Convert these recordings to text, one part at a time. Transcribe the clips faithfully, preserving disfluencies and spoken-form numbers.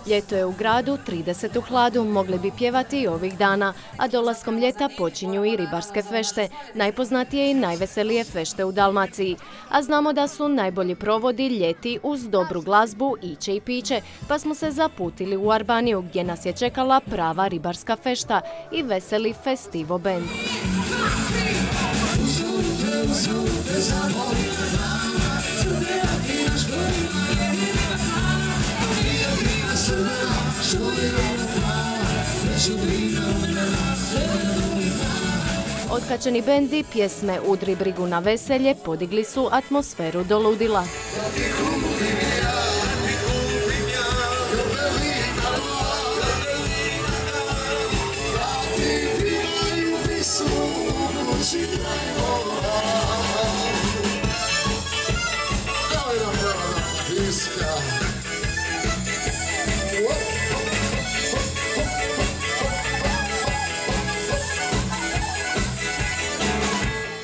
Ljeto je u gradu, trideset u hladu, mogli bi pjevati i ovih dana, a dolaskom ljeta počinju i ribarske fešte, najpoznatije i najveselije fešte u Dalmaciji. A znamo da su najbolji provodi ljeti uz dobru glazbu, iće i piće, pa smo se zaputili u Arbaniju gdje nas je čekala prava ribarska fešta i veseli Festivo band. Otkačeni bendi pjesme Udri brigu na veselje podigli su atmosferu do ludila.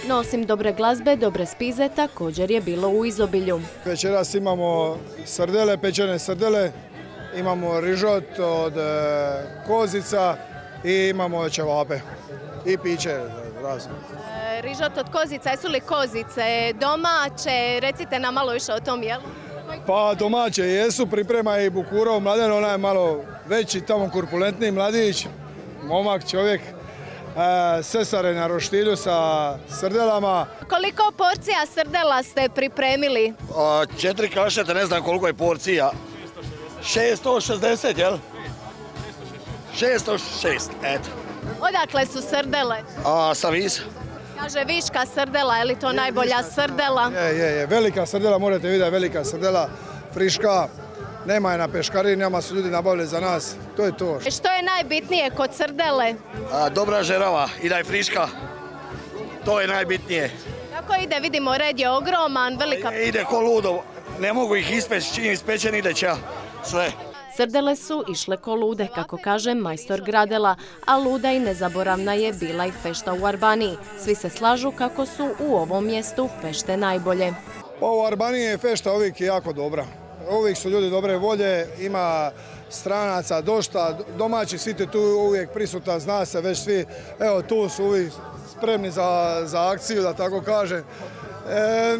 No, osim dobre glazbe, dobre spize također je bilo u izobilju. Večeras imamo srdele, pečene srdele, imamo rižot od kozica i imamo ćevape i piće razno. E, rižot od kozica, jesu li kozice domaće? Recite nam malo više o tom jelu. Pa domaće jesu, priprema i Bukurov Mladen, ona je malo veći, tamo kurpulentniji mladić, momak čovjek. Sesare na roštilju sa srdelama. Koliko porcija srdela ste pripremili? A, četiri kašete, ne znam koliko je porcija. šesto šezdeset, jel? šesto šest, eto. Odakle su srdele? A, sa Visa. Kaže viška srdela, je li to najbolja srdela? Je, je, je, velika srdela, morate vidjeti, velika srdela, friška. Nema je na peškarini, nama su ljudi nabavili za nas, to je to. Što je najbitnije kod srdele? A, dobra žerava i da je friška, to je najbitnije. Kako ide, vidimo, red je ogroman, velika... E, ide ko ludo, ne mogu ih ispeći, čim ispečen ide će, sve. Srdele su išle ko lude, kako kaže majstor Gradela, a luda i nezaboravna je bila i fešta u Arbaniji. Svi se slažu kako su u ovom mjestu fešte najbolje. Pa u Arbaniji je fešta uvijek jako dobra. Uvijek su ljudi dobre volje, ima stranaca dosta, domaći svi tu uvijek prisutan, zna se već svi, evo tu su uvijek spremni za, za akciju, da tako kažem. E,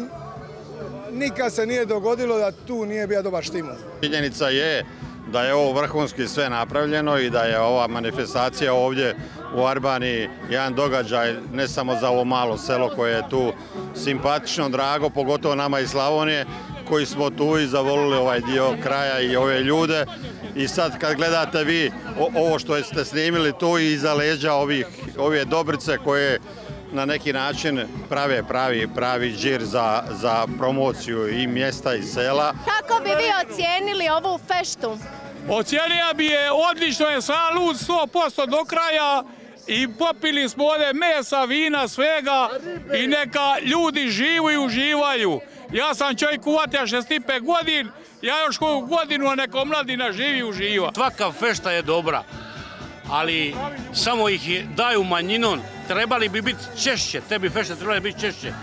nikad se nije dogodilo da tu nije bio dobar štimul. Činjenica je da je ovo vrhunski sve napravljeno i da je ova manifestacija ovdje u Arbaniji jedan događaj ne samo za ovo malo selo koje je tu simpatično, drago, pogotovo nama iz Slavonije, koji smo tu i zavolili ovaj dio kraja i ove ljude. I sad kad gledate vi ovo što ste snimili tu i iza leđa ovih, ove Dobrice koje na neki način prave pravi, pravi džir za, za promociju i mjesta i sela. Kako bi vi ocijenili ovu feštu? Ocijenio bi je, odlično je, sam lud sto posto do kraja i popili smo ovdje mesa, vina, svega i neka ljudi živu i uživaju. Ja sam čovjek uvatio šezdeset pet godin, ja još koju godinu, a neko mladina živi i uživa. Svaka fešta je dobra, ali samo ih daju manjinom, trebali bi biti češće, te bi fešte trebali biti češće.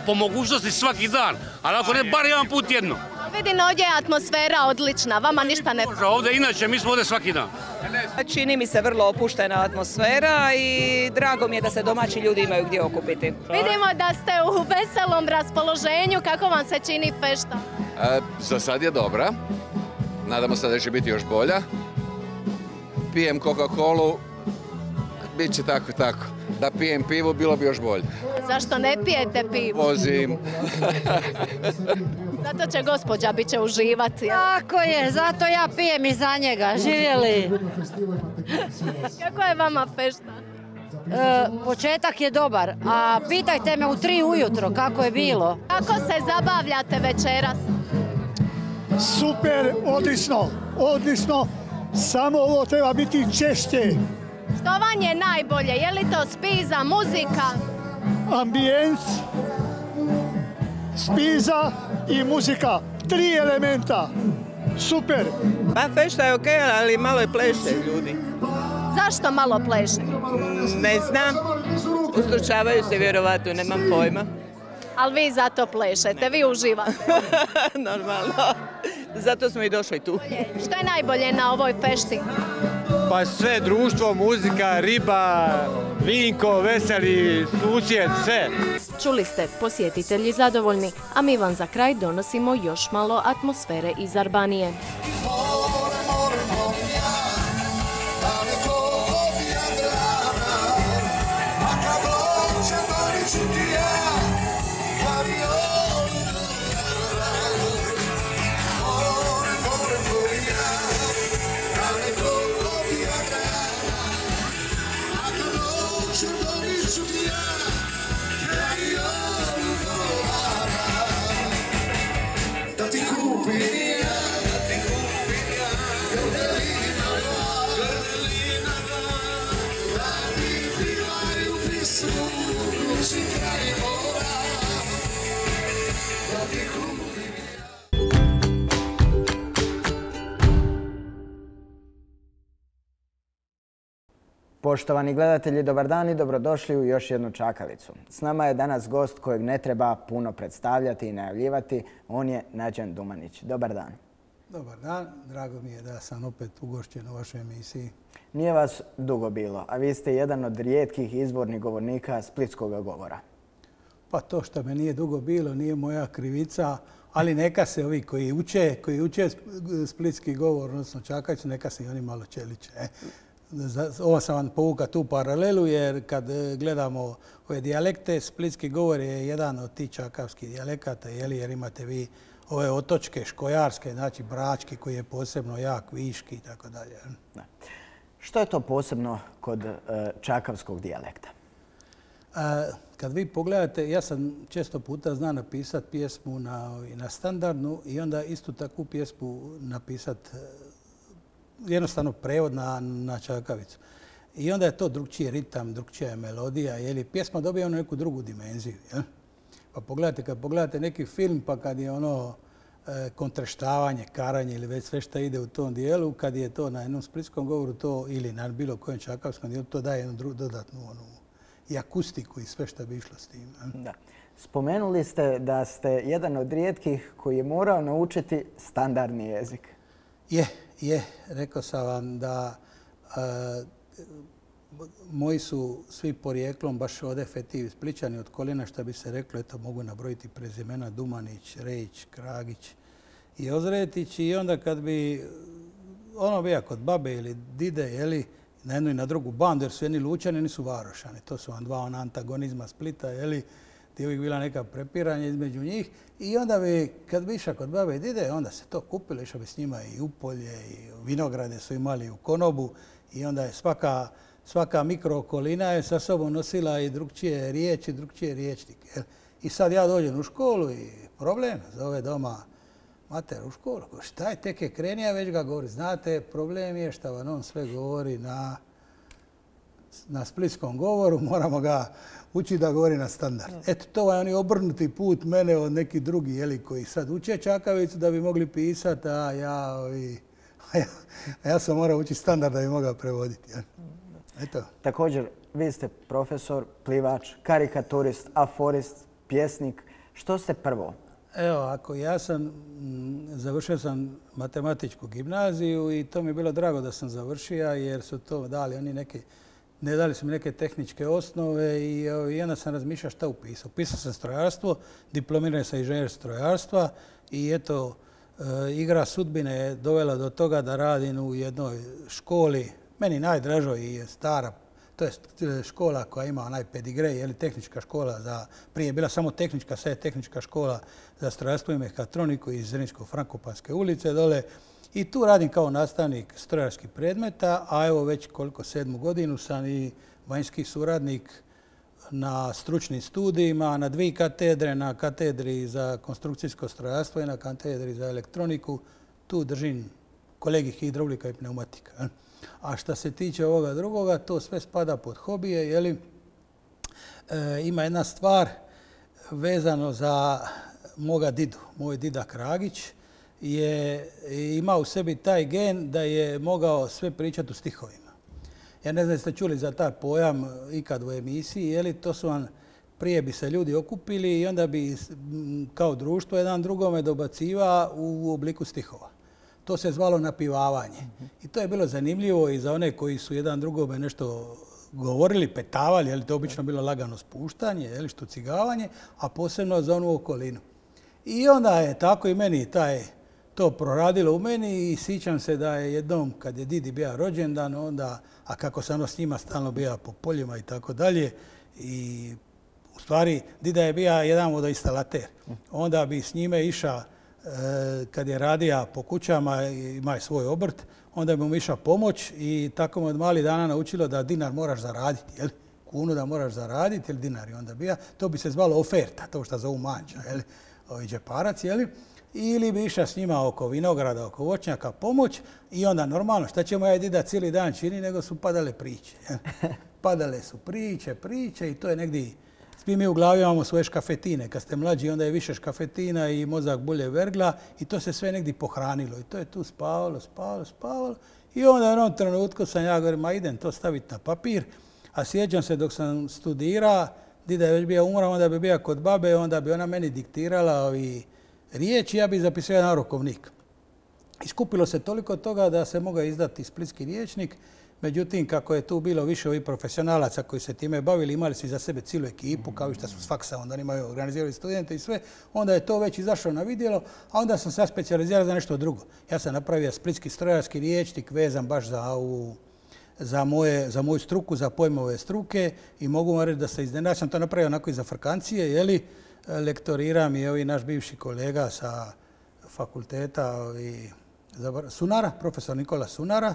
Po mogućnosti svaki dan, ali ako ne, bar jedan put jedno. Vidim, ovdje je atmosfera odlična, vama ništa ne... Ovdje inače, mi smo ovdje svaki dan. Čini mi se vrlo opuštena atmosfera i drago mi je da se domaći ljudi imaju gdje okupiti. Vidimo da ste u veselom raspoloženju, kako vam se čini fešta? E, za sad je dobra, nadamo se da će biti još bolja. Pijem Coca-Colu, bit će tako tako. Da pijem pivu, bilo bi još bolje. Zašto ne pijete pivu? Vozim. Zato će gospođa bit će uživati. Tako je, zato ja pijem i za njega. Živjeli. Kako je vama fešta? E, početak je dobar, a pitajte me u tri ujutro kako je bilo. Kako se zabavljate večeras? Super, odlično, odlično. Samo ovo treba biti češće. Što vam je najbolje? Je li to spiza, muzika? Ambijent, spiza i muzika. Tri elementa. Super. Pa fešta je okej, ali malo je pleše ljudi. Zašto malo pleše? Ne znam. Ustručavaju se vjerovatno, nemam pojma. Ali vi zato plešete, vi uživate. Normalno. Zato smo i došli tu. Što je najbolje na ovoj fešti? Pa sve, društvo, muzika, riba, vinko, veseli, susjed, sve. Čuli ste, posjetitelji zadovoljni, a mi vam za kraj donosimo još malo atmosfere iz Arbanije. Poštovani gledatelji, dobar dan i dobrodošli u još jednu čakalicu. S nama je danas gost kojeg ne treba puno predstavljati i najavljivati. On je Nađan Dumanić. Dobar dan. Dobar dan. Drago mi je da sam opet ugošćen u vašoj emisiji. Nije vas dugo bilo, a vi ste jedan od rijetkih izvornih govornika splitskog govora. Pa to što me nije dugo bilo nije moja krivica, ali neka se ovi koji uče, koji uče splitski govor, odnosno čakalicu, neka se i oni malo čeliče. Ovo sam vam povukao tu paralelu jer kad gledamo ove dijalekte, splitski govor je jedan od tih čakavskih dijalekata jer imate vi ove otočke, škojarske, znači brački koji je posebno jak, viški i tako dalje. Što je to posebno kod čakavskog dijalekta? Kad vi pogledate, ja sam često puta zna napisati pjesmu na standardnu i onda istu takvu pjesmu napisati jednostavno prevod na čakavicu. I onda je to drugčiji ritam, drugčija je melodija. Jer pjesma dobija ono neku drugu dimenziju. Pa pogledajte, kad pogledate neki film, pa kad je ono kontreštavanje, karanje ili već sve što ide u tom dijelu, kad je to na jednom splitskom govoru to ili na bilo kojem čakavskom dijelu, to daje jednu dodatnu i akustiku i sve što bi išlo s tim. Da. Spomenuli ste da ste jedan od rijetkih koji je morao naučiti standardni jezik. Je, je. Rekao sam vam da moji su svi porijeklom baš od efektivi Splićani od koljena, što bi se reklo, eto mogu nabrojiti prezimena Dumanić, Rejić, Kragić i Ozretić. I onda kad bi ono bija kod babe ili dide, jeli, na jednu i na drugu bandu, jer su jedni Lučani, jedni su Varošani. To su vam dva ona antagonizma Splita, jeli, gdje je uvijek bila neka prepiranja između njih. I onda bi, kad bi išao kod babe i dide, onda se to kupilo, išao bi s njima i u polje, i vinograde su imali u konobu. I onda je svaka, svaka mikrookolina je sa sobom nosila i drugčije riječi, drugčije riječnike. I sad ja dođem u školu i problem, zove doma mater u školu. Šta je, tek je krenija, već ga govori. Znate, problem je što vam on sve govori na, na splitskom govoru, moramo ga učiti da govori na standard. Eto, to je oni obrnuti put mene od neki drugi, jeli, koji sad uče čakavicu da bi mogli pisati, a ja, ovi, a ja, a ja sam morao učiti standard da bi mogao prevoditi. Eto. Također, vi ste profesor, plivač, karikaturist, aforist, pjesnik. Što ste prvo? Evo, ako ja sam, završio sam matematičku gimnaziju i to mi je bilo drago da sam završio jer su to dali oni neke, ne dali su mi neke tehničke osnove i, i onda sam razmišljao šta upisao. Upisao sam strojarstvo, diplomirao sam inženjer strojarstva i eto, e, igra sudbine je dovela do toga da radim u jednoj školi, meni najdražoj i stara. To je škola koja ima onaj pedigrej, je li tehnička škola za, prije je bila samo tehnička, sad je tehnička škola za strojarstvo i mehatroniku iz Zrinsko-Frankopanske ulice dole. I tu radim kao nastavnik strojarskih predmeta, a evo već koliko sedmu godinu sam i vanjski suradnik na stručnim studijima, na dvije katedre, na katedri za konstrukcijsko strojarstvo i na katedri za elektroniku. Tu držim kolegij hidraulika i pneumatika. A što se tiče ovoga drugoga, to sve spada pod hobije. Jeli? E, ima jedna stvar vezano za moga didu. Moj dida Kragić je imao u sebi taj gen da je mogao sve pričati u stihovima. Ja ne znam jeste čuli za taj pojam ikad u emisiji. Jeli? To su vam prije bi se ljudi okupili i onda bi kao društvo jedan drugome dobaciva u obliku stihova. To se zvalo napivavanje. I to je bilo zanimljivo i za one koji su jedan drugome nešto govorili, petavali, je li to obično bilo lagano spuštanje, je li štucigavanje, a posebno za onu okolinu. I onda je tako i meni taj, to proradilo u meni i sjećam se da je jednom kad je Didi bio rođendan, onda, a kako sam ono s njima stalno bio po poljima i tako dalje, i u stvari Dida je bio jedan vodoinstalater. Onda bi s njime iša, kad je radio po kućama, ima svoj obrt, onda bi mu išao pomoć i tako mu od mali dana naučilo da dinar moraš zaraditi, jel? Kunu da moraš zaraditi, ili dinar je onda bija. To bi se zvalo oferta, to što zovu manđa, jel? Ovi džeparac, jel? Ili bi išao s njima oko vinograda, oko voćnjaka pomoć i onda normalno, šta će moja dida cijeli dan čini, nego su padale priče. Jel? Padale su priče, priče i to je negdje. Svi mi u glavi imamo svoje škafetine. Kad ste mlađi, onda je više škafetina i mozak bolje vergla i to se sve negdje pohranilo. I to je tu spavalo, spavalo, spavalo. I onda u jednom trenutku sam ja govorim, ma idem to staviti na papir. A sjećam se dok sam studira, dida je već bio umra, onda bi bio kod babe, onda bi ona meni diktirala ovi riječi, ja bi zapisao na rukovnik. Iskupilo se toliko toga da se mogao izdati splitski riječnik. Međutim, kako je tu bilo više ovih profesionalaca koji se time bavili, imali su za sebe cijelu ekipu, kao i što su s faksa, onda imaju organizirali studente i sve, onda je to već izašlo na vidjelo, a onda sam se specijalizirao za nešto drugo. Ja sam napravio splitski strojarski riječnik vezan baš za ovu, za, moje, za moju struku, za pojmove struke i mogu vam reći da se iznenadio. Ja sam to napravio onako i za frkancije, jeli, lektoriram i ovi naš bivši kolega sa fakulteta ovi, Sunara, profesor Nikola Sunara,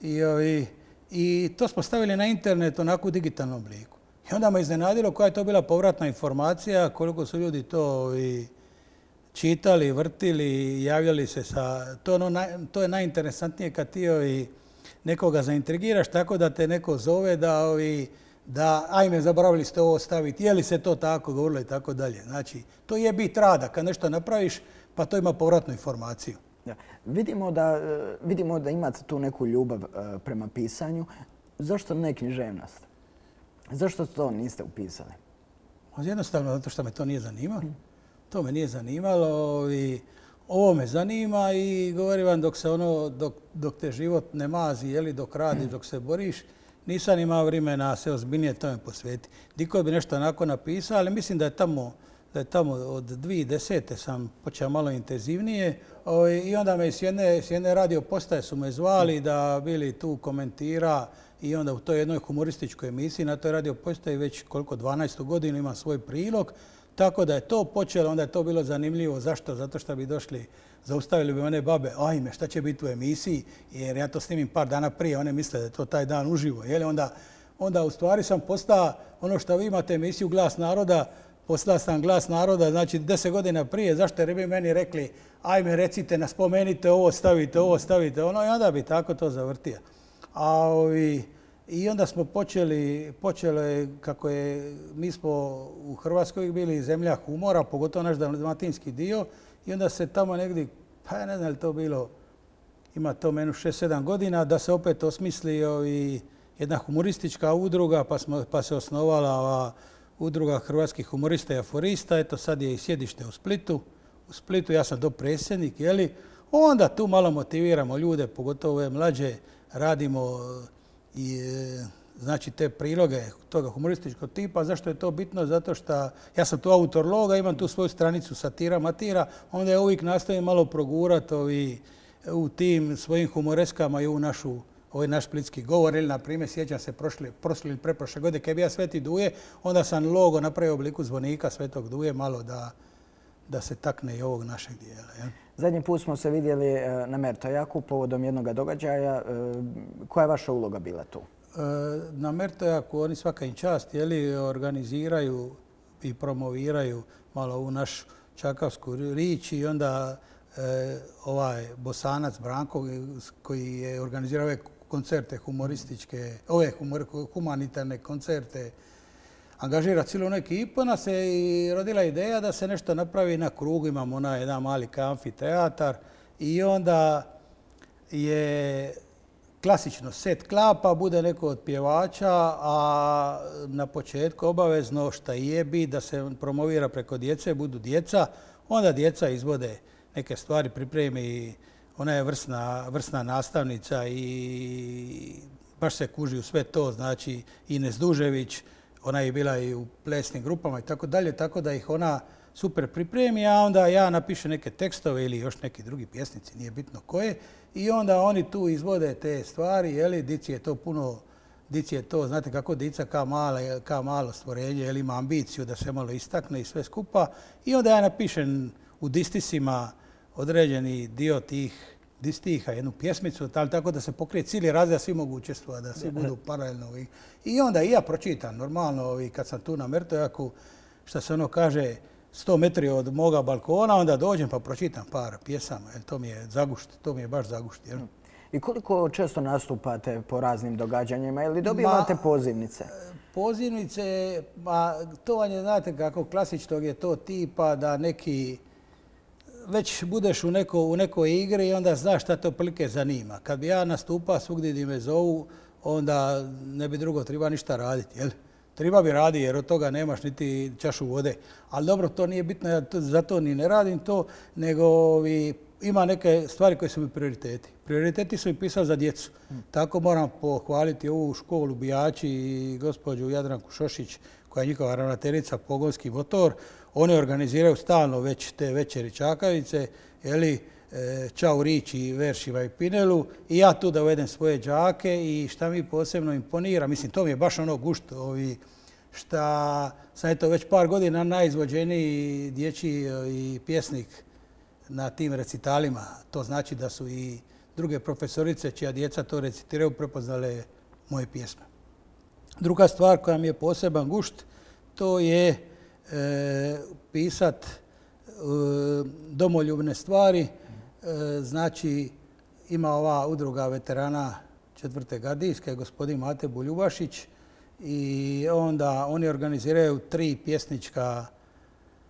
i ovi, I to smo stavili na internet onako u digitalnom obliku. I onda me iznenadilo koja je to bila povratna informacija, koliko su ljudi to i čitali, vrtili, javljali se sa... To, ono, to je najinteresantnije kad ti ovi, nekoga zaintrigiraš tako da te neko zove da, ovi, da ajme, zaboravili ste ovo staviti, je li se to tako govorilo i tako dalje. Znači, to je bit rada. Kad nešto napraviš, pa to ima povratnu informaciju. Da. Vidimo, da, vidimo da imate tu neku ljubav prema pisanju. Zašto ne književnost? Zašto to niste upisali? Jednostavno zato što me to nije zanimalo. To me nije zanimalo i ovo me zanima i govorim vam dok se ono, dok, dok te život ne mazi, jeli, dok radiš, dok se boriš, nisam imao vremena se ozbiljnije tome posvetiti. Diko bi nešto onako napisao, ali mislim da je tamo da je tamo od dvije tisuće desete sam počeo malo intenzivnije i onda me s jedne, s jedne radio postaje su me zvali da bili tu komentira i onda u toj jednoj humorističkoj emisiji na toj radio postaji već koliko dvanaestu godinu ima svoj prilog. Tako da je to počelo, onda je to bilo zanimljivo. Zašto? Zato što bi došli, zaustavili bi one babe, ajme, šta će biti u emisiji, jer ja to snimim par dana prije, one misle da je to taj dan uživo. Jel? Onda, onda u stvari sam postao ono što vi imate emisiju Glas naroda, postao sam Glas naroda, znači deset godina prije, zašto jer bi meni rekli, ajme recite, nas spomenite ovo, stavite ovo, stavite ono, i onda bi tako to zavrtio. A ovi, i onda smo počeli, počelo je, kako je, mi smo u Hrvatskoj bili zemlja humora, pogotovo naš dalmatinski dio, i onda se tamo negdje, pa ja ne znam li to bilo, ima to menu šest sedam godina, da se opet osmisli ovi, jedna humoristička udruga, pa, smo, pa se osnovala ova udruga hrvatskih humorista i aforista. Eto sad je i sjedište u Splitu. U Splitu ja sam dopredsjednik, jeli? Onda tu malo motiviramo ljude, pogotovo ove mlađe, radimo i znači te priloge toga humorističkog tipa. Zašto je to bitno? Zato što ja sam tu autor loga, imam tu svoju stranicu satira, matira, onda ja uvijek nastavim malo progurati u tim svojim humoreskama i u našu ovaj naš splitski govor, ili na primjer, sjećam se prošle, prošle ili preprošle godine, kad je bio Sveti Duje, onda sam logo napravio u obliku zvonika Svetog Duje, malo da, da se takne i ovog našeg dijela. Ja? Zadnji put smo se vidjeli na Mertojaku povodom jednog događaja. Koja je vaša uloga bila tu? Na Mertojaku oni svaka im čast, jeli, organiziraju i promoviraju malo ovu našu čakavsku rič i onda e, ovaj Bosanac Branko koji je organizirao ove koncerte humorističke, ove humor, humanitarne koncerte, angažira cijelu ekipu, nas se i rodila ideja da se nešto napravi na krugu. Imamo onaj jedan mali amfiteatar i onda je klasično set klapa, bude neko od pjevača, a na početku obavezno šta je bi da se promovira preko djece, budu djeca, onda djeca izvode neke stvari, pripremi, ona je vrsna, vrsna nastavnica i baš se kuži u sve to, znači Ines Dužević, ona je bila i u plesnim grupama i tako dalje, tako da ih ona super pripremi, a onda ja napišem neke tekstove ili još neki drugi pjesnici, nije bitno koje, i onda oni tu izvode te stvari, jeli, dici je to puno, dici je to, znate kako dica ka, mala, ka malo stvorenje, jeli, ima ambiciju da se malo istakne i sve skupa, i onda ja napišem u distisima određeni dio tih distiha, jednu pjesmicu, tako da se pokrije cijeli razred, svi mogu učestvovati, da svi budu paralelno. I onda i ja pročitam, normalno, kad sam tu na Mertojaku, što se ono kaže, sto metri od moga balkona, onda dođem pa pročitam par pjesama, jer to mi je zagušt, to mi je baš zagušt. Jel? I koliko često nastupate po raznim događanjima ili dobivate pozivnice? Pozivnice, ma to vam je, znate kako, klasičnog je to tipa da neki, već budeš u, neko, u nekoj igri i onda znaš šta te otprilike zanima. Kad bi ja nastupao svugdje gdje me zovu, onda ne bi drugo treba ništa raditi, jel? Treba bi radi jer od toga nemaš niti čašu vode. Ali dobro, to nije bitno, ja to, zato ni ne radim to, nego ovi, ima neke stvari koje su mi prioriteti. Prioriteti su mi pisali za djecu. Hmm. Tako moram pohvaliti ovu školu Bijači i gospođu Jadranku Šošić, koja je njihova ravnateljica Pogonski motor. Oni organiziraju stalno već te večeri Čakavice, jeli, Čau Riči, Veršiva i Pinelu, i ja tu da uvedem svoje đake i šta mi posebno imponira, mislim, to mi je baš ono gušt, ovi, šta sam eto već par godina najizvođeniji dječji i pjesnik na tim recitalima. To znači da su i druge profesorice čija djeca to recitiraju prepoznale moje pjesme. Druga stvar koja mi je poseban gušt, to je e, pisat e, domoljubne stvari. Znači, ima ova udruga veterana četvrte gardijske, gospodin Mate Buljubašić, i onda oni organiziraju tri pjesnička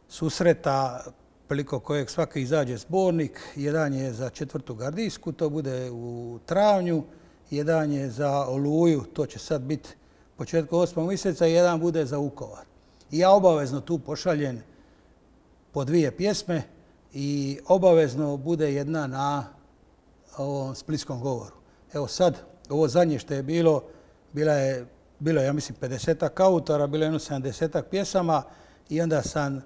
susreta, prilikom kojeg svaki izađe zbornik. Jedan je za četvrtu gardijsku, to bude u travnju, jedan je za Oluju, to će sad biti početku osmog mjeseca, i jedan bude za Vukovar. I ja obavezno tu pošaljem po dvije pjesme, i obavezno bude jedna na ovom splitskom govoru. Evo sad, ovo zadnje što je bilo, bila je, bilo je, ja mislim, pedesetak autora, bilo je jedno sedamdesetak pjesama, i onda sam,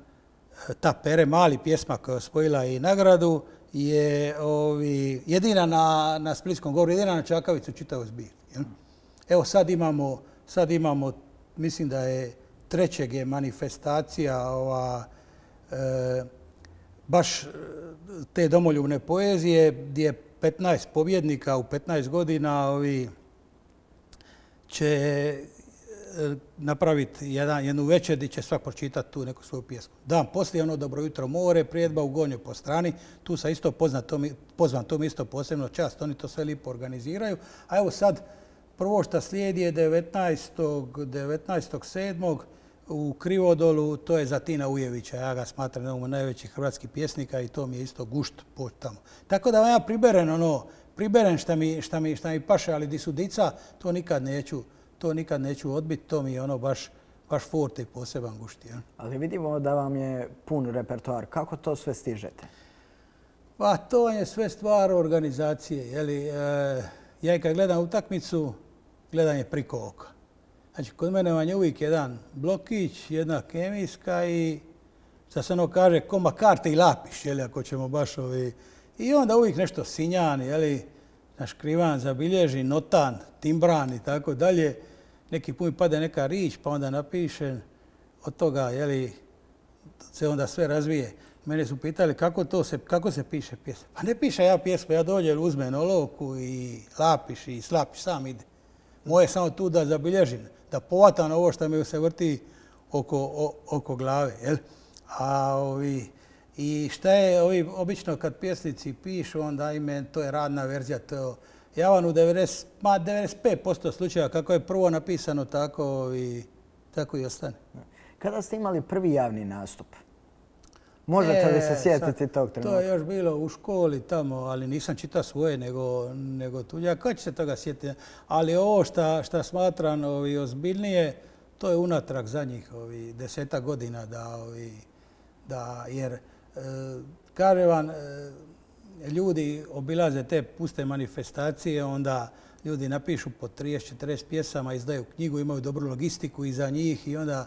ta Pere Mali pjesma koja je osvojila i nagradu, je ovi, jedina na, na splitskom govoru, jedina na Čakavicu čitavoj zbirki. Evo sad imamo, sad imamo, mislim da je trećeg je manifestacija ova, e, baš te domoljubne poezije, gdje je petnaest pobjednika u petnaest godina ovi će napraviti jedan, jednu večer gdje će svak pročitati tu neku svoju pjesmu. Dan poslije ono Dobro jutro more, prijedba u Gonju po strani, tu sam isto poznat, to mi, pozvan, to mi isto posebno čast, oni to sve lipo organiziraju. A evo sad, prvo što slijedi je devetnaestog sedmog u Krivodolu, to je za Tina Ujevića. Ja ga smatram jednom od najvećih hrvatskih pjesnika i to mi je isto gušt poći tamo. Tako da ja priberem ono, priberem šta mi, šta mi, šta mi paše, ali di su dica, to nikad neću, to nikad neću odbiti, to mi je ono baš, baš forte i poseban gušt. Ja. Ali vidimo da vam je pun repertoar. Kako to sve stižete? Pa to je sve stvar organizacije. Jeli, e, ja i kad gledam utakmicu, gledam je priko oka. Znači, kod mene vam je uvijek jedan blokić, jedna kemijska i, šta se ono kaže, koma karte i lapiš, jeli, ako ćemo baš ovi. I onda uvijek nešto sinjan, jeli, naškrivan, zabilježi, notan, timbran i tako dalje. Neki put pade neka rič, pa onda napišem od toga, jeli, se onda sve razvije. Mene su pitali kako to se, kako se piše pjesma. Pa ne piše ja pjesmu, ja dođem, uzmem olovku i lapiš i slapiš, sam ide. Moje je samo tu da zabilježim, da povatam ovo što mi se vrti oko, o, oko glave. Jel? A ovi, i šta je ovi, obično kad pjesnici pišu, onda ime, to je radna verzija. To, ja vam u devedeset, ma devedeset pet posto slučaja kako je prvo napisano, tako, i, tako i ostane. Kada ste imali prvi javni nastup? Možete li se sjetiti tog trenutka? To je još bilo u školi tamo, ali nisam čitao svoje, nego, nego tuđa. Ko će se toga sjetiti? Ali ovo što smatram ovi, ozbiljnije, to je unatrag zadnjih ovi, deseta godina da, ovi, da jer e, kažem vam, e, ljudi obilaze te puste manifestacije, onda ljudi napišu po trideset četrdeset pjesama, izdaju knjigu, imaju dobru logistiku iza njih i onda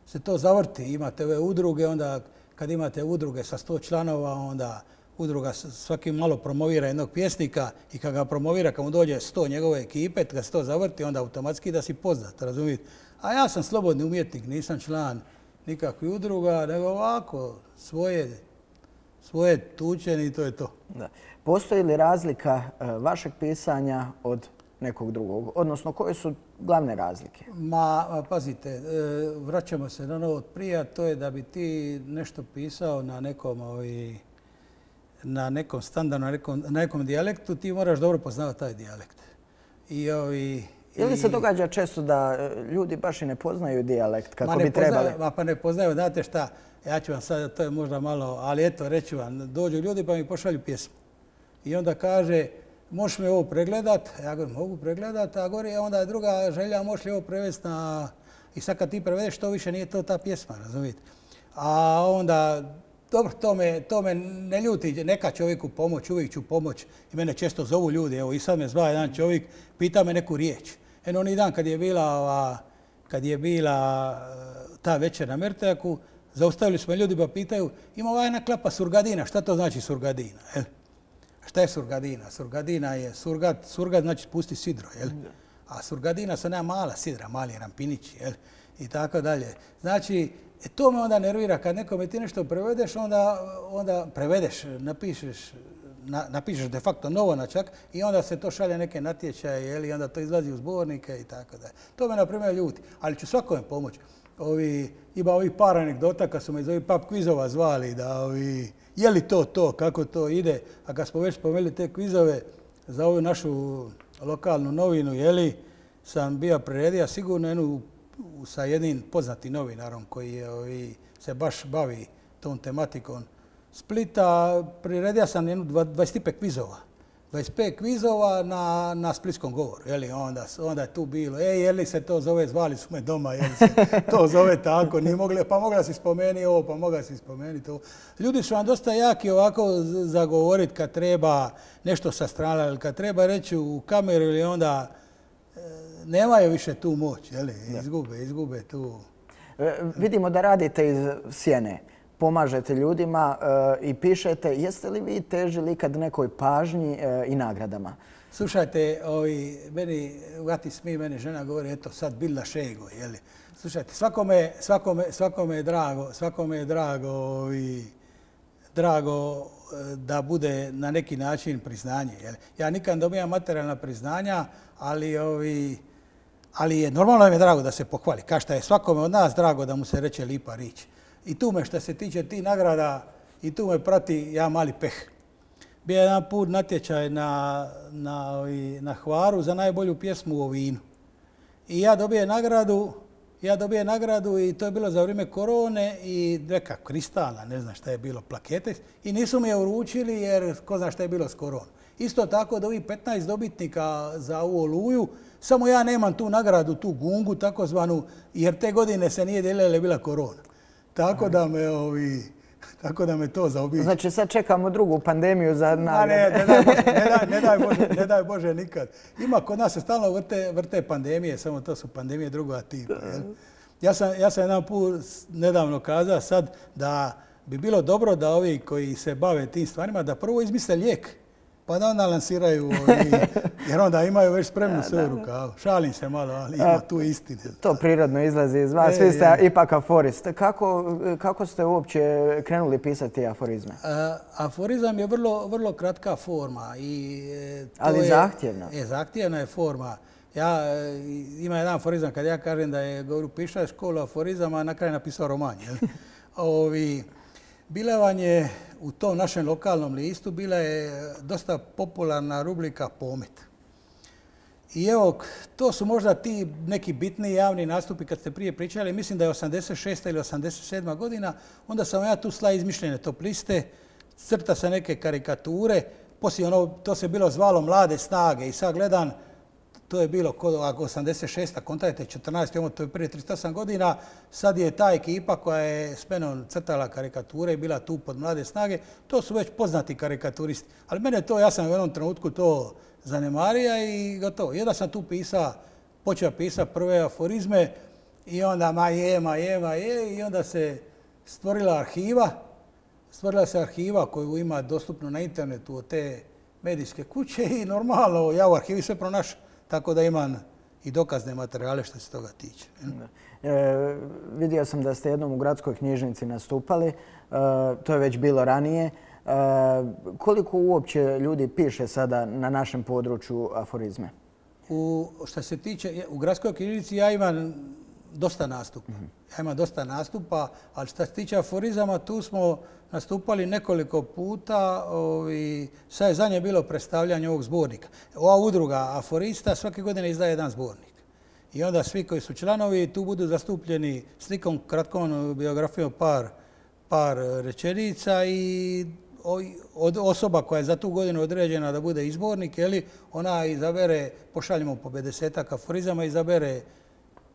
se to zavrti. Imate ove udruge, onda kad imate udruge sa sto članova, onda udruga svaki malo promovira jednog pjesnika i kad ga promovira, kad mu dođe sto njegove ekipe, kad se to zavrti, onda automatski da si poznat, razumijete? A ja sam slobodni umjetnik, nisam član nikakvih udruga, nego ovako, svoje, svoje tučeni i to je to. Da. Postoji li razlika vašeg pisanja od nekog drugog? Odnosno, koje su glavne razlike? Ma, pazite, vraćamo se na ono od prija, to je da bi ti nešto pisao na nekom, ovi, na nekom standardu, na nekom, na nekom dijalektu, ti moraš dobro poznavati taj dijalekt. I ovi, Je li se događa često da ljudi baš i ne poznaju dijalekt kako bi trebali? Ma pa ne poznaju, znate šta, ja ću vam sad, to je možda malo, ali eto, reći vam, dođu ljudi pa mi pošalju pjesmu. I onda kaže, možeš mi ovo pregledat? Ja govorim, mogu pregledat, a govori, onda je druga želja, možeš li ovo prevesti na... I sad kad ti prevedeš, to više nije to ta pjesma, razumijete? A onda, dobro, to me, to me ne ljuti, neka čovjeku pomoć, uvijek ću pomoć. I mene često zovu ljudi, evo i sad me zva jedan čovjek, pita me neku riječ. Eno, onaj dan kad je bila, ova, kad je bila ta večer na Mertejaku, zaustavili smo ljudi pa pitaju, ima ova jedna klapa surgadina, šta to znači surgadina? Jel? Šta je surgadina? Surgadina je surgat, surgat znači spusti sidro, jel? A surgadina su nema mala sidra, mali rampinići, jel? I tako dalje. Znači, e, to me onda nervira. Kad nekome ti nešto prevedeš, onda, onda prevedeš, napišeš, na, napišeš de facto novo na čak i onda se to šalje neke natječaje, jel? I onda to izlazi u zbornike i tako dalje. To me, na primjer, ljuti. Ali ću svakome pomoći. Ovi, ima ovih par anegdota kad su me iz ovih pub kvizova zvali da ovi, je li to to, kako to ide. A kad smo već spomenuli te kvizove za ovu našu lokalnu novinu, jeli, sam bio priredio sigurno jednu sa jednim poznatim novinarom koji je, ovi, se baš bavi tom tematikom Splita. Priredio sam jednu dvadeset pet kvizova. dvadeset pet kvizova na, na splitskom govoru. Jeli, onda, onda je tu bilo, ej, je li se to zove, zvali su me doma, je li se to zove tako, nije mogli, pa mogla si spomenuti ovo, pa mogla si spomenuti ovo. Ljudi su vam dosta jaki ovako zagovoriti kad treba nešto sa strane, ili kad treba reći u kameru ili onda e, nemaju više tu moć, jeli, izgube, izgube tu. E, vidimo da radite iz sjene. Pomažete ljudima e, i pišete. Jeste li vi težili ikad nekoj pažnji e, i nagradama? Slušajte, ovi, meni, uvati smije, meni žena govori, eto sad bilda šego, jeli. Slušajte, svakome, svakome, svakome je drago, svakome je drago, ovi, drago da bude na neki način priznanje. Jeli. Ja nikad ne dobijam materijalna priznanja, ali, ovi, ali je normalno mi je drago da se pohvali. Kao što je svakome od nas drago da mu se reče lipa rič. I tu me što se tiče tih nagrada, i tu me prati ja mali peh. Bio je jedan put natječaj na, na, na Hvaru za najbolju pjesmu o vinu. I ja dobije nagradu, ja dobije nagradu i to je bilo za vrijeme korone i neka kristalna, ne znam šta je bilo, plakete. I nisu mi je uručili jer ko zna šta je bilo s koronom. Isto tako od ovih petnaest dobitnika za ovu Oluju, samo ja nemam tu nagradu, tu gungu takozvanu, jer te godine se nije dijelila jer je bila korona. Tako da me ovi, tako da me to zaobiđe. Znači sad čekamo drugu pandemiju za nagrade. Ne, ne, daj Bože, ne, daj, ne, daj Bože, ne daj Bože nikad. Ima kod nas se stalno vrte, vrte pandemije, samo to su pandemije druga tipa. Jel? Ja sam, ja sam jedan put nedavno kazao sad da bi bilo dobro da ovi koji se bave tim stvarima da prvo izmisle lijek. Pa da onda lansiraju, ovi, jer onda imaju već spremnu sve u rukavu. Šalim se malo, ali ima tu istine. To prirodno izlazi iz vas, svi ste ipak aforist. Kako, kako ste uopće krenuli pisati aforizme? A, aforizam je vrlo, vrlo kratka forma. I, to ali je, zahtjevna? Je, zahtjevna je forma. Ja, ima jedan aforizam kad ja kažem da je govoru piša školu aforizama, a na kraju napisao roman. Jel? Ovi, bilevanje u tom našem lokalnom listu bila je dosta popularna rubrika Pomet. I evo, to su možda ti neki bitni javni nastupi kad ste prije pričali. Mislim da je osamdeset šesta ili osamdeset sedma godina. Onda sam ja tu sla izmišljene top liste, crta se neke karikature. Poslije ono, to se bilo zvalo Mlade snage i sad gledam, to je bilo kod osamdeset šesta kontajte četrnaest, to je prije trideset osam godina. Sad je ta ekipa koja je s menom crtala karikature i bila tu pod Mlade snage. To su već poznati karikaturisti. Ali mene to, ja sam u jednom trenutku to zanemarija i gotovo. Jedan sam tu pisao, počeo pisati prve aforizme i onda ma je, ma je, ma je i onda se stvorila arhiva. Stvorila se arhiva koju ima dostupno na internetu od te medijske kuće i normalno ja u arhivi sve pronašao. Tako da imam i dokazne materijale što se toga tiče. E, vidio sam da ste jednom u gradskoj knjižnici nastupali. E, to je već bilo ranije. E, koliko uopće ljudi piše sada na našem području aforizme? U, što se tiče, u gradskoj knjižnici ja imam dosta nastupa. Mm-hmm. Ja imam dosta nastupa, ali što se tiče aforizama, tu smo nastupali nekoliko puta. Ovi, sad je zadnje bilo predstavljanje ovog zbornika. Ova udruga aforista svake godine izdaje jedan zbornik. I onda svi koji su članovi tu budu zastupljeni slikom, kratkom biografijom par, par rečenica i od osoba koja je za tu godinu određena da bude izbornik, jeli, ona izabere, pošaljemo po pedesetak aforizama, izabere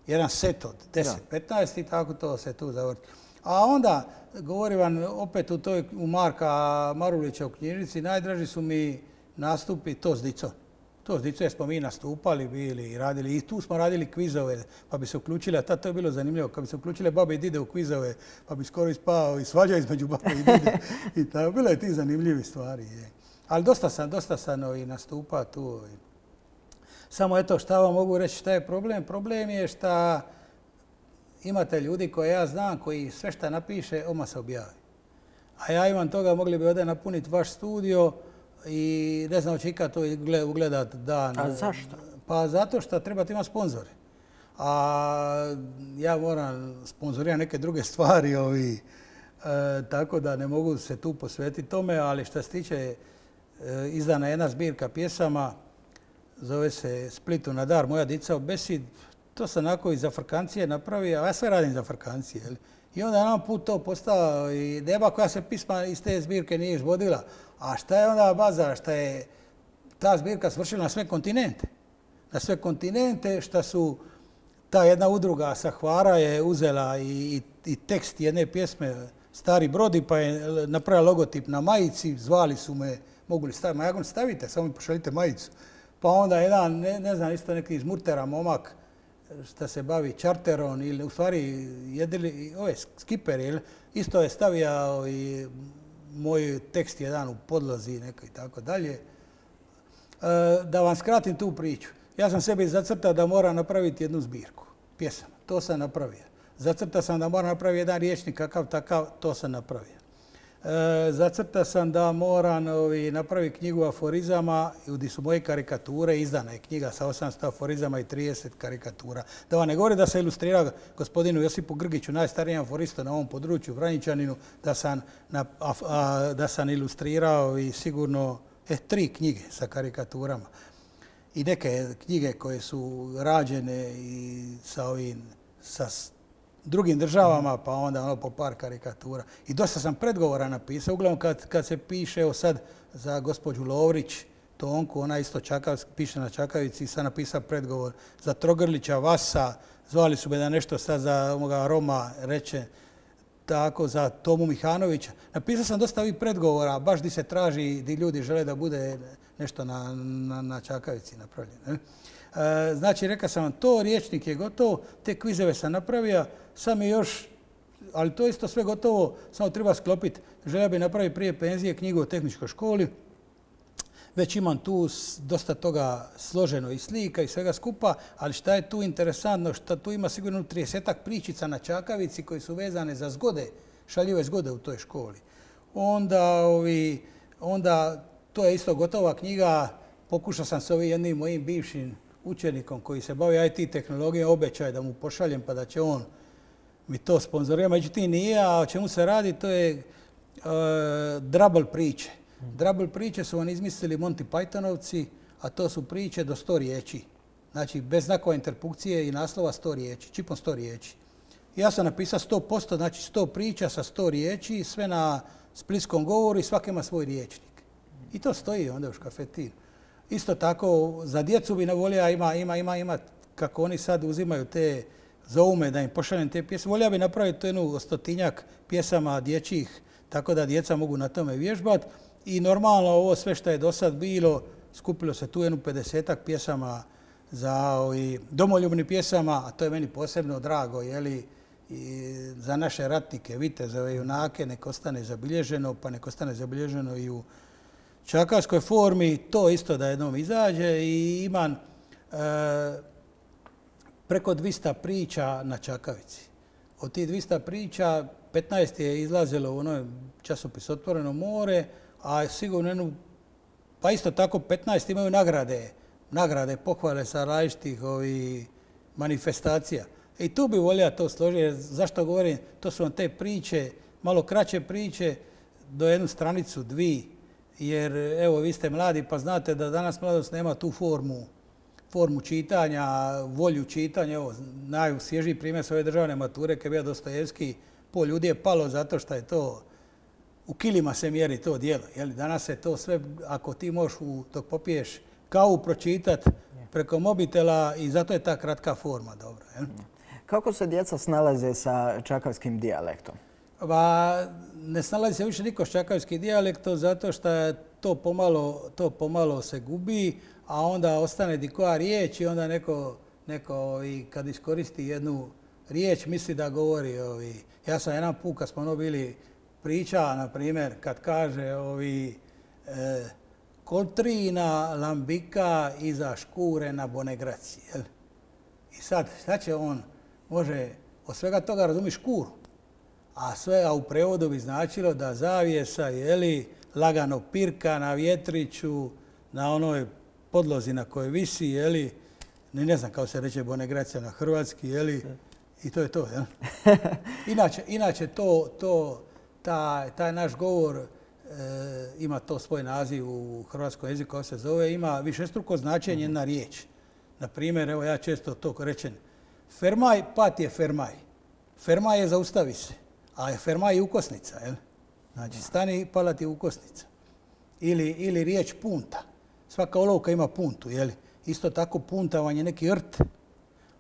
jedan set od deset petnaest i tako to se tu zavrti. A onda, govorim vam opet u toj, u Marka Marulića u knjižnici, najdraži su mi nastupi to s dicom. To s dicom smo mi nastupali, bili i radili. I tu smo radili kvizove, pa bi se uključili, a tad to je bilo zanimljivo, kad bi se uključile babe i dide u kvizove, pa bi skoro ispao i svađa između babe i dide. I tako, bilo je ti zanimljivi stvari. Je. Ali dosta sam, dosta sam i nastupa tu. Samo eto, šta vam mogu reći, šta je problem? Problem je šta imate ljudi koje ja znam, koji sve šta napiše, odmah se objavi. A ja imam toga, mogli bi ovdje napuniti vaš studio i ne znam, će ikad to ugledat dan. A zašto? Pa zato što trebate imati sponzore. A ja moram sponzorirati neke druge stvari, ovi, e, tako da ne mogu se tu posvetiti tome, ali što se tiče e, izdana jedna zbirka pjesama, zove se Splitu na dar, moja dica u besid. To sam onako i za Frkancije napravio, a ja sve radim za Frkancije. Jel? I onda je nam put to postao i deba koja se pisma iz te zbirke nije izvodila. A šta je onda baza? Šta je ta zbirka svršila na sve kontinente? Na sve kontinente šta su ta jedna udruga sa Hvara je uzela i, i, i tekst jedne pjesme Stari brodi pa je napravila logotip na majici, zvali su me, mogu li staviti? Ma ja govorim, stavite, samo mi pošaljite majicu. Pa onda jedan, ne, ne znam, isto neki iz Murtera momak što se bavi čarterom ili u stvari jedili, ove skiperi, isto je stavio i moj tekst jedan u podlozi neko i tako dalje. Da vam skratim tu priču. Ja sam sebi zacrtao da moram napraviti jednu zbirku pjesama. To sam napravio. Zacrtao sam da moram napraviti jedan riječnik kakav takav, to sam napravio. E, zacrtao sam da moram ovi, napraviti knjigu aforizama gdje su moje karikature, izdana je knjiga sa osamsto aforizama i trideset karikatura. Da vam ne govori da se ilustrira gospodinu Josipu Grgiću, najstarijem aforistu na ovom području, Vranjičaninu, da sam, na, a, a, da sam ilustrirao i sigurno e, tri knjige sa karikaturama. I neke knjige koje su rađene i sa ovim, sa drugim državama, pa onda ono po par karikatura. I dosta sam predgovora napisao. Uglavnom kad, kad se piše, evo sad za gospođu Lovrić, Tonku, ona isto čakav, piše na Čakavici, sad napisao predgovor za Trogrlića, Vasa, zvali su me da nešto sad za ovoga Roma reče, tako za Tomu Mihanovića. Napisao sam dosta ovih predgovora, baš di se traži, di ljudi žele da bude nešto na, na, na Čakavici napravljeno. Ne? E, znači, rekao sam vam, to riječnik je gotovo, te kvizeve sam napravio, sam je još, ali to isto sve gotovo, samo treba sklopiti. Želio bi napraviti prije penzije knjigu o tehničkoj školi. Već imam tu dosta toga složeno i slika i svega skupa, ali šta je tu interesantno, što tu ima sigurno tridesetak pričica na Čakavici koji su vezane za zgode, šaljive zgode u toj školi. Onda, ovi, onda to je isto gotova knjiga, pokušao sam s ovim jednim mojim bivšim učenikom koji se bavi I T tehnologijom, obećaj da mu pošaljem pa da će on mi to sponzorirati. Međutim nije, a o čemu se radi, to je uh, drabble priče. Drabble priče su vam izmislili Monty Pythonovci, a to su priče do sto riječi. Znači, bez znakova interpunkcije i naslova sto riječi, čipom sto riječi. Ja sam napisao sto posto, znači sto priča sa sto riječi, sve na splitskom govoru i svaki ima svoj riječnik. I to stoji onda u škafetinu. Isto tako, za djecu bi ne volio, ima, ima, ima, ima, kako oni sad uzimaju te zaume da im pošaljem te pjesme. Volio bi napraviti to jednu stotinjak pjesama dječjih, tako da djeca mogu na tome vježbati. I normalno ovo sve što je do sad bilo, skupilo se tu jednu pedesetak pjesama za ovi, domoljubni pjesama, a to je meni posebno drago, jeli, i za naše ratnike, vitezove, junake, nek ostane zabilježeno, pa nek ostane zabilježeno i u čakavskoj formi, to isto da jednom izađe i imam e, preko dvista priča na Čakavici. Od tih dvista priča petnaest je izlazilo u onoj časopis Otvoreno more, a sigurno jednu, pa isto tako petnaest imaju nagrade, nagrade, pohvale sa različitih ovih manifestacija. I tu bi volio to složiti, zašto govorim, to su vam te priče, malo kraće priče, do jednu stranicu, dvi, jer evo vi ste mladi pa znate da danas mladost nema tu formu, formu čitanja, volju čitanja. Evo, najsvježiji primjer su ove državne mature, kad je bio Dostojevski, pol ljudi je palo zato što je to, u kilima se mjeri to djelo. Jeli? Danas se to sve, ako ti možeš u, dok popiješ kavu pročitati preko mobitela i zato je ta kratka forma dobra. Jel? Kako se djeca snalaze sa čakavskim dijalektom? Pa, ne snalazi se više niko s čakavskim dijalektom zato što to pomalo, to pomalo se gubi, a onda ostane di koja riječ i onda neko, neko i kad iskoristi jednu riječ misli da govori. Ovi. Ja sam jedan put kad smo ono bili priča, na primjer, kad kaže ovi, e, Koltrina lambika iza škure na Bonegraci. Jel? I sad, šta će on, može od svega toga razumi škuru, a sve a u prevodu bi značilo da zavjesa, jeli, lagano pirka na vjetriću, na onoj podlozi na kojoj visi, jeli, ne, ne znam kako se reče Bonegracija na hrvatski, jeli, i to je to. Jel? Inače, inače to, to, taj, taj naš govor e, ima to svoj naziv u hrvatskom jeziku koji se zove, ima višestruko značenje na riječ. Na primjer, evo ja često to rečem, fermaj, pat je fermaj. Fermaj je zaustavi se, a fermaj je ukosnica. Jel? Znači, stani, pala ti ukosnica. Ili, ili riječ punta. Svaka olovka ima puntu, jeli? Isto tako punta vam je neki rt.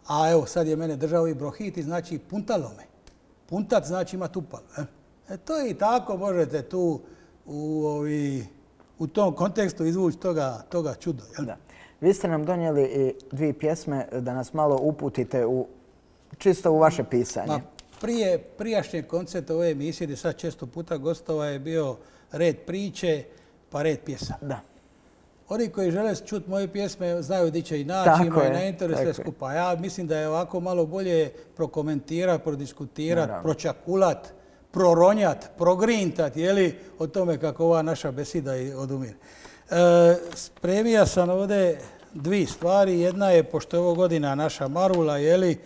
A evo, sad je mene držao i brohiti, znači puntalome. Puntat znači ima tupalu. Jel? E, to je i tako, možete tu u, ovi, u tom kontekstu izvući toga, toga čudo. Jel? Da. Vi ste nam donijeli i dvije pjesme da nas malo uputite u, čisto u vaše pisanje. Ma, prije prijašnje koncerte ove emisije, gdje sad često puta gostova, je bio red priče pa red pjesama. Da. Oni koji žele čuti moje pjesme znaju gdje će i naći, imaju na internetu sve skupa. Ja mislim da je ovako malo bolje prokomentirati, prodiskutirati, pročakulat, proronjat, progrintat, jeli, o tome kako ova naša besida odumire. E, spremio sam ovdje dvije stvari. Jedna je, pošto je ovo godina naša Marula, jeli,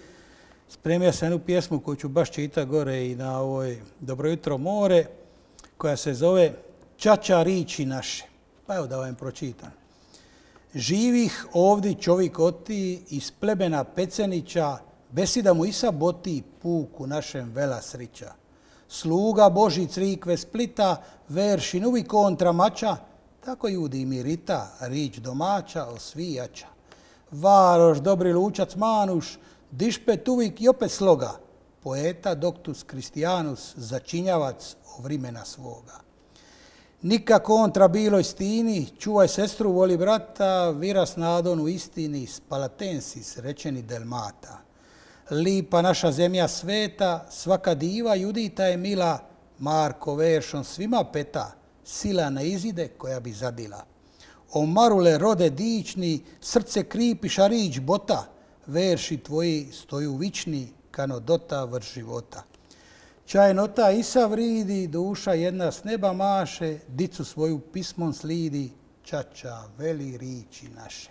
spremio sam jednu pjesmu koju ću baš čitati gore i na ovoj Dobro jutro more, koja se zove Čača riči naše. Pa evo da vam pročitam. Živih ovdje čovjek oti iz plebena Pecenića, besida mu i saboti puku našem vela srića. Sluga Boži crikve Splita, verši nuvi kontra mača, tako judi mirita, rič domaća osvijača. Varoš, dobri lučac Manuš, dišpet uvijek i opet sloga, poeta Doctus Christianus, začinjavac o vrimena svoga. Nika kontra biloj stini, čuvaj sestru, voli brata, viras nadon u istini, spalatensis, rečeni delmata. Lipa naša zemlja sveta, svaka diva judita je mila, Marko veršom svima peta, sila ne izide koja bi zadila. O Marule rode dični, srce kripi šarić bota, verši tvoji stoju vični, kano dota vrš života. Čajnota isa vridi, duša jedna s neba maše, dicu svoju pismom slidi, čača veli riči naše.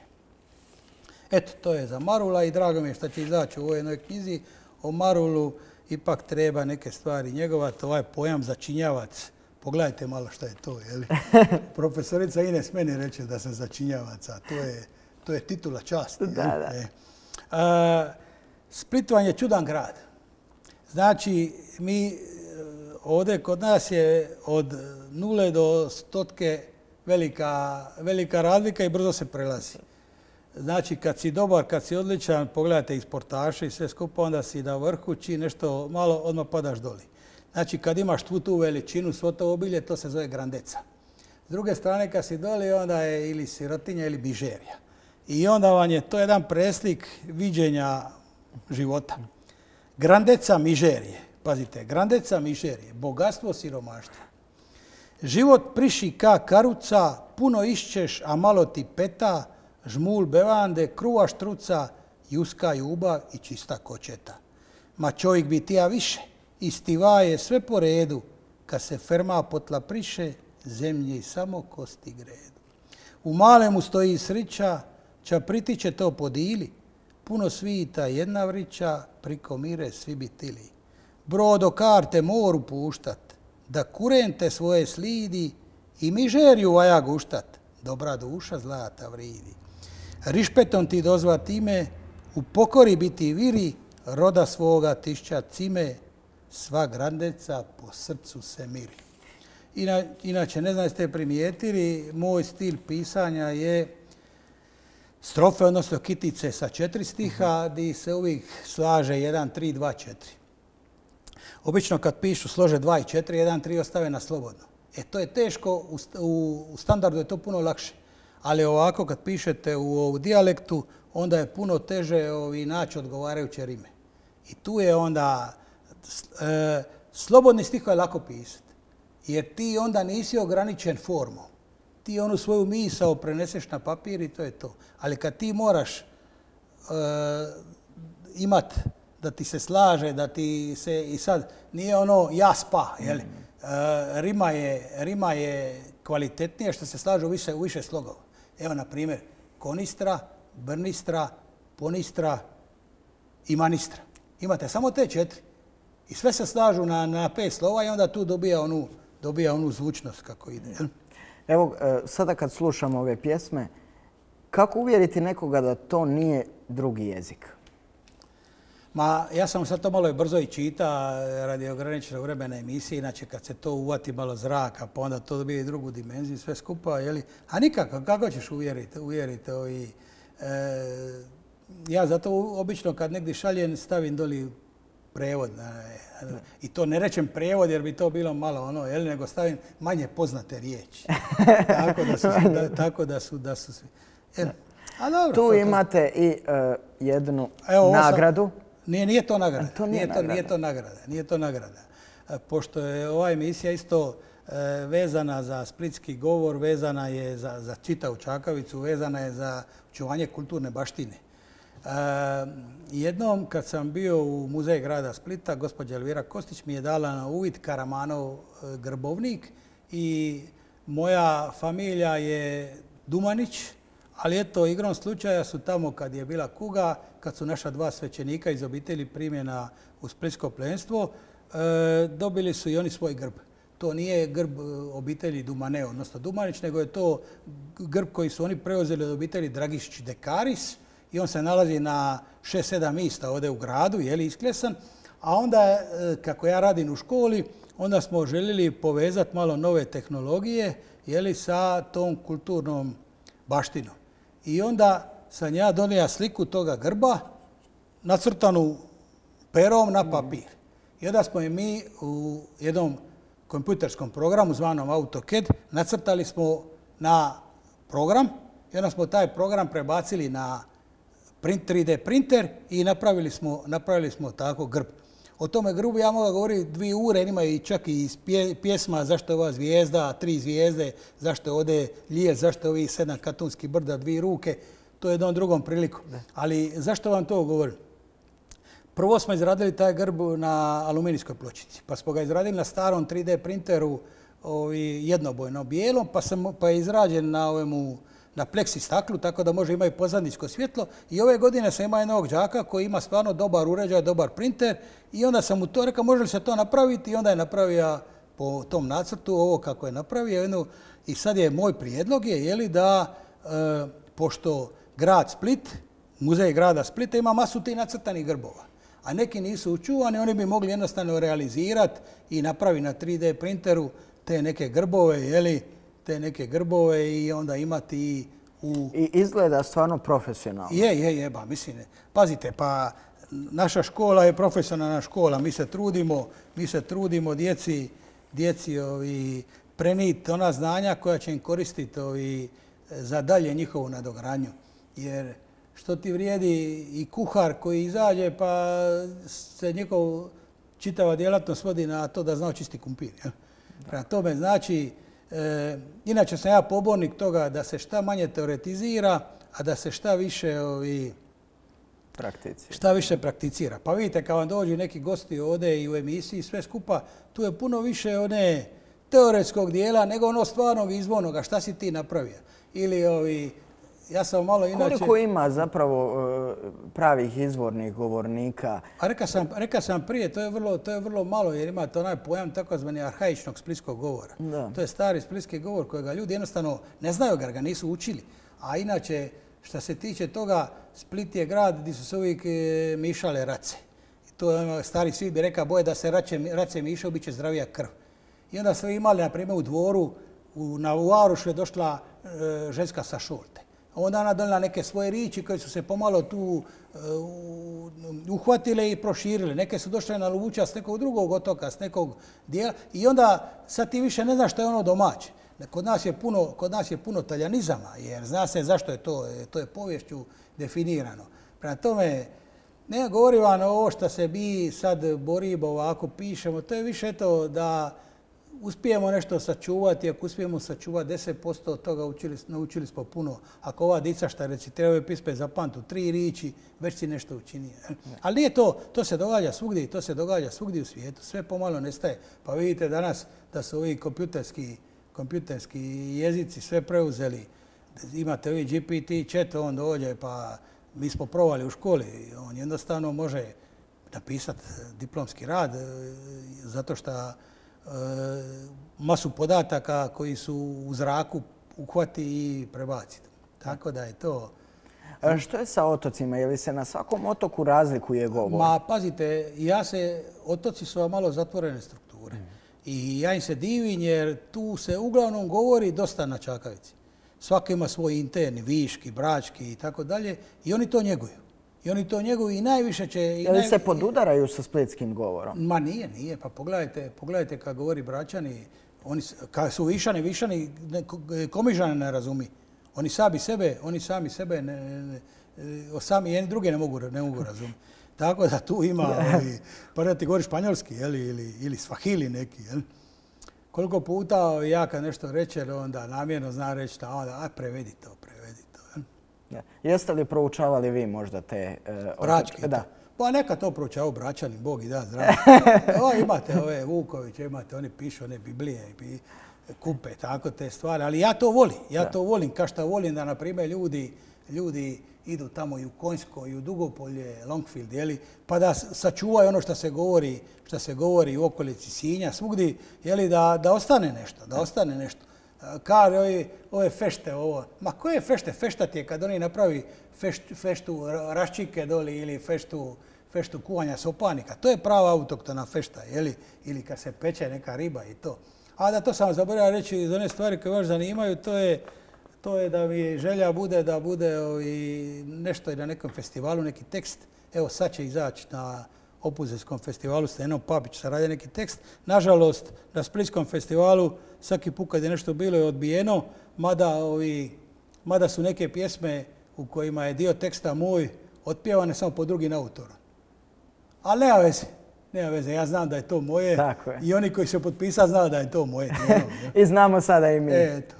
Eto, to je za Marula i drago mi je što će izaći u ovoj jednoj knjizi. O Marulu ipak treba neke stvari njegovati, ovaj pojam začinjavac. Pogledajte malo što je to, jeli? Profesorica Ines meni reče da sam začinjavac, a to je, To je titula časti. Da, da. E. A, Split vam je čudan grad. Znači, mi ovdje kod nas je od nule do stotke velika, velika razlika i brzo se prelazi. Znači, kad si dobar, kad si odličan, pogledajte i sportaše i sve skupa, onda si na vrhu, čim nešto malo, odmah padaš doli. Znači, kad imaš tu tu veličinu, svo to obilje, to se zove grandeca. S druge strane, kad si doli, onda je ili sirotinja ili bižerija. I onda vam je to jedan preslik viđenja života. Grandeca, mižerije. Pazite, grandeca, mižerije. Bogatstvo, siromaštvo. Život priši ka karuca, puno išćeš, a malo ti peta, žmul bevande, kruva štruca, juska ljubav i čista kočeta. Ma čovjek bi tija više, istiva je sve po redu, kad se ferma potla priše, zemlji samo kosti gredu. U malemu stoji srića, ča pritiče to podili, puno svita jedna vrića, priko mire svi bi tili. Brodo karte moru puštat, da kurente svoje slidi i mižerju vaja guštat, dobra duša zlata vridi. Rišpetom ti dozvat ime, u pokori biti viri, roda svoga tišća cime, sva grandeca po srcu se miri. Ina, inače, ne znam jeste primijetili, moj stil pisanja je strofe, odnosno kitice sa četiri stiha, gdje se uvijek slaže jedan, tri, dva, četiri. Obično kad pišu slože dva i četiri, jedan, tri ostave na slobodno. E to je teško, u, u, u standardu je to puno lakše. Ali ovako kad pišete u, u dijalektu, onda je puno teže ovi, naći odgovarajuće rime. I tu je onda, e, slobodni stih je lako pisati. Jer ti onda nisi ograničen formom. Ti onu svoju misao preneseš na papir i to je to. Ali kad ti moraš e, imat da ti se slaže, da ti se i sad nije ono ja spa, jel? E, rima, je, rima je kvalitetnije što se slaže u više, u više slogova. Evo, na primjer, konistra, brnistra, ponistra i manistra. Imate samo te četiri. I sve se slažu na, na pet slova i onda tu dobija onu, dobija onu zvučnost kako ide. Jel? Evo, sada kad slušamo ove pjesme, kako uvjeriti nekoga da to nije drugi jezik? Ma, ja sam sad to malo brzo i čita radi ograničenog vremena emisije, inače kad se to uvati malo zraka, pa onda to dobije i drugu dimenziju, sve skupa, jeli? A nikako, kako ćeš uvjeriti? uvjeriti ovi, e, ja zato obično kad negdje šaljem stavim doli prevod. I to ne rečem prevod jer bi to bilo malo ono, jel, nego stavim manje poznate riječi. Tako da su, da, tako da su, da su svi. Jel? A dobro, tu to, imate i uh, jednu Evo, nagradu. Sam, nije, nije to nagrada. To nije, nije, nagrada. To, nije to nagrada. Nije to nagrada. Pošto je ova emisija isto e, vezana za splitski govor, vezana je za, za čitavu Čakavicu, vezana je za očuvanje kulturne baštine. E, jednom kad sam bio u muzeju grada Splita, gospođa Elvira Kostić mi je dala na uvid Karamanov grbovnik i moja familija je Dumanić, ali eto, igrom slučaja su tamo kad je bila kuga, kad su naša dva svećenika iz obitelji primjena u splitsko plemstvo, e, dobili su i oni svoj grb. To nije grb obitelji Dumane, odnosno Dumanić, nego je to grb koji su oni preuzeli od obitelji Dragišić Dekaris i on se nalazi na šest sedam mista ovdje u gradu, je li isklesan. A onda, kako ja radim u školi, onda smo željeli povezati malo nove tehnologije, je li, sa tom kulturnom baštinom. I onda sam ja donio sliku toga grba, nacrtanu perom na papir. I onda smo je mi u jednom kompjuterskom programu zvanom AutoCAD nacrtali smo na program i onda smo taj program prebacili na print, tri D printer i napravili smo, napravili smo tako grb. O tome grbu ja mogu govoriti dvije ure, ima i čak i iz pjesma zašto je ova zvijezda, tri zvijezde, zašto je ovdje lijes, zašto je ovih sedam katunskih brda, dvije ruke. To je jednom drugom priliku. Ali zašto vam to govorim? Prvo smo izradili taj grb na aluminijskoj pločici, pa smo ga izradili na starom tri D printeru ovi, jednobojno bijelom, pa, sam, pa je izrađen na, ovemu, na pleksi staklu, tako da može imati pozadinsko svjetlo. I ove godine sam imao jednog đaka koji ima stvarno dobar uređaj, dobar printer i onda sam mu to rekao može li se to napraviti i onda je napravio po tom nacrtu ovo kako je napravio. Jednu, i sad je moj prijedlog je, je li, da, e, pošto grad Split, muzej grada Splita ima masu tih nacrtanih grbova. A neki nisu učuvani, oni bi mogli jednostavno realizirati i napraviti na tri D printeru te neke grbove, jeli, te neke grbove i onda imati u... I izgleda stvarno profesionalno. Je, je, je, ba, mislim, pazite, pa naša škola je profesionalna škola, mi se trudimo, mi se trudimo djeci, djeci ovi, preniti ona znanja koja će im koristiti ovi, za dalje njihovu nadogradnju. Jer što ti vrijedi i kuhar koji izađe pa se njegov čitava djelatnost vodi na to da zna očisti kumpir. Ja? Prema tome znači, e, inače sam ja pobornik toga da se šta manje teoretizira, a da se šta više ovi, prakticira. Šta više prakticira. Pa vidite, kad vam dođu neki gosti ovdje i u emisiji sve skupa, tu je puno više one teoretskog dijela nego ono stvarnog izvornoga. Šta si ti napravio? Ili ovi, ja sam malo inače... Koliko ima zapravo pravih izvornih govornika? A reka sam, reka sam prije, to je, vrlo, to je vrlo malo jer imate onaj pojam takozvani arhaičnog splitskog govora. Da. To je stari splitski govor kojega ljudi jednostavno ne znaju ga, ga nisu učili. A inače, što se tiče toga, Split je grad gdje su se uvijek mišale race. I to je stari svit bi rekao, boje da se race, race mišao, bit će zdravija krv. I onda smo imali, na primjer, u dvoru, u, na Uarušu je došla e, ženska sa Šolte. Onda ona donijela neke svoje riči koje su se pomalo tu e, uhvatile i proširile. Neke su došle na Luvuća s nekog drugog otoka, s nekog dijela. I onda sad ti više ne znaš što je ono domaće. Kod nas je puno, kod nas je puno taljanizama, jer zna se zašto je to, to je poviješću definirano. Prema tome, ne govorim vam ovo što se mi sad borimo, ovako pišemo, to je više to da uspijemo nešto sačuvati, ako uspijemo sačuvati deset posto od toga učili, naučili smo puno. Ako ova dica šta recitiraju pisme za pantu tri riči, već si nešto učinio. Ali nije to, to se događa svugdje, to se događa svugdje u svijetu, sve pomalo nestaje. Pa vidite danas da su ovi kompjuterski kompjuterski jezici sve preuzeli. Imate ovi G P T chat, on dođe, pa mi smo provali u školi. On jednostavno može napisati diplomski rad zato što e, masu podataka koji su u zraku uhvati i prebaci. Tako da je to... A što je sa otocima? Je li se na svakom otoku razlikuje govor? Ma, pazite, ja se, otoci su malo zatvorene strukture. I ja im se divim jer tu se uglavnom govori dosta na čakavici. Svaki ima svoj interni, viški, brački i tako dalje i oni to njeguju. I oni to njeguju i najviše će... Je li se podudaraju sa splitskim govorom? Ma nije, nije. Pa pogledajte, pogledajte kad govori bračani, oni, kad su višani, višani, komižane ne razumi. Oni sami sebe, oni sami sebe, ne, ne, sami jedni druge ne mogu, ne mogu razumjeti. Tako da tu ima, ovi, pa da ti govori španjolski jeli, ili, ili svahili neki. Jeli. Koliko puta ja kad nešto reče, onda namjerno zna reći da onda, a prevedi to, prevedi to. Jeli. Ja. Jeste li proučavali vi možda te... Uh, Brački? Da. Pa neka to proučavaju bračani, Bog i da zdravo. O, imate ove Vukoviće, imate, oni pišu one Biblije i kupe, tako te stvari. Ali ja to volim, ja da. to volim, kao što volim da, na primjer, ljudi, ljudi idu tamo i u Konjsko, i u Dugopolje, Longfield, jeli, pa da sačuvaju ono što se govori, što se govori u okolici Sinja, svugdje, jeli, da, da ostane nešto, da ostane nešto. Kaže, ove, ove fešte, ovo, ma koje fešte? Feštat je kad oni napravi fešt, feštu raščike doli ili feštu, feštu kuvanja sopanika. To je prava autoktona fešta, jeli, ili kad se peče neka riba i to. A da to sam zaboravio reći iz one stvari koje vas zanimaju, to je To je da mi želja bude da bude ovi, nešto i na nekom festivalu, neki tekst. Evo sad će izaći na Opuzelskom festivalu s Enom Papić, sad radi neki tekst. Nažalost, na Splitskom festivalu svaki put kad je nešto bilo je odbijeno, mada, ovi, mada su neke pjesme u kojima je dio teksta moj otpjevane samo pod drugim autorom. Ali nema veze. Nema veze, ja znam da je to moje. Tako je. I oni koji su potpisali znaju da je to moje. I znamo sada i mi. Eto.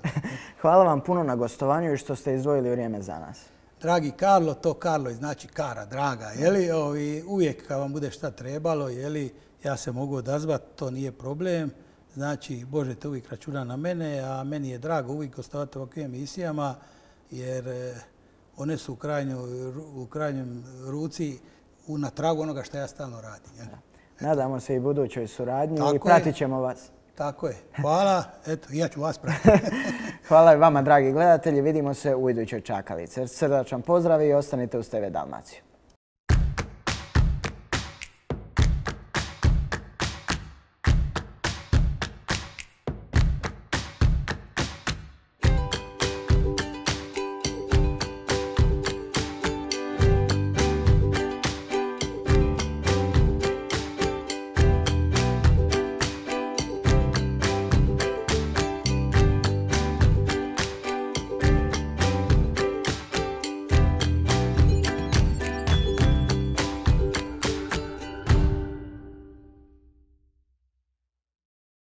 Hvala vam puno na gostovanju i što ste izdvojili vrijeme za nas. Dragi Karlo, to Karlo znači Kara, draga. Jeli, ovi, uvijek kad vam bude šta trebalo, jeli, ja se mogu odazvati, to nije problem. Znači, možete uvijek računati na mene, a meni je drago uvijek gostovati u ovakvim emisijama, jer eh, one su u, krajnju, u krajnjem ruci u, na tragu onoga što ja stalno radim. Jeli. Nadamo se i budućoj suradnji Tako i pratit ćemo vas. Tako je. Hvala. Eto, ja ću vas pratiti. Hvala i vama, dragi gledatelji. Vidimo se u idućoj čakalici. Srdačan pozdrav i ostanite uz T V Dalmaciju.